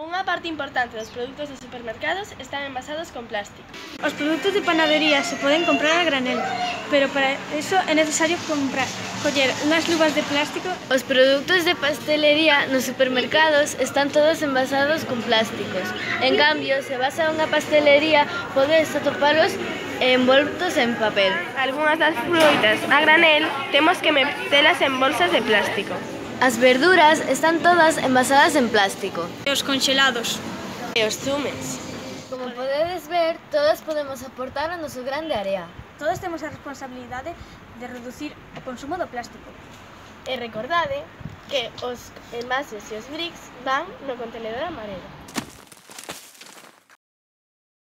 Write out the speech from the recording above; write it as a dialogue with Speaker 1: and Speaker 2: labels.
Speaker 1: Unha parte importante dos produtos dos supermercados están envasados con plástico.
Speaker 2: Os produtos de panadería se poden comprar a granel, pero para eso é necesario coller unhas luvas de plástico.
Speaker 3: Os produtos de pastelería nos supermercados están todos envasados con plásticos. En cambio, se vas a unha pastelería, podes atopalos envoltos en papel.
Speaker 1: Algunhas das frutas a granel temos que metelas en bolsas de plástico.
Speaker 3: As verduras están todas envasadas en plástico.
Speaker 2: E os conxelados.
Speaker 1: E os zumes.
Speaker 3: Como podedes ver, todos podemos aportar a noso grande área.
Speaker 2: Todos temos a responsabilidade de reducir o consumo do plástico.
Speaker 1: E recordade que os envases e os bricks van no contenedor amarelo.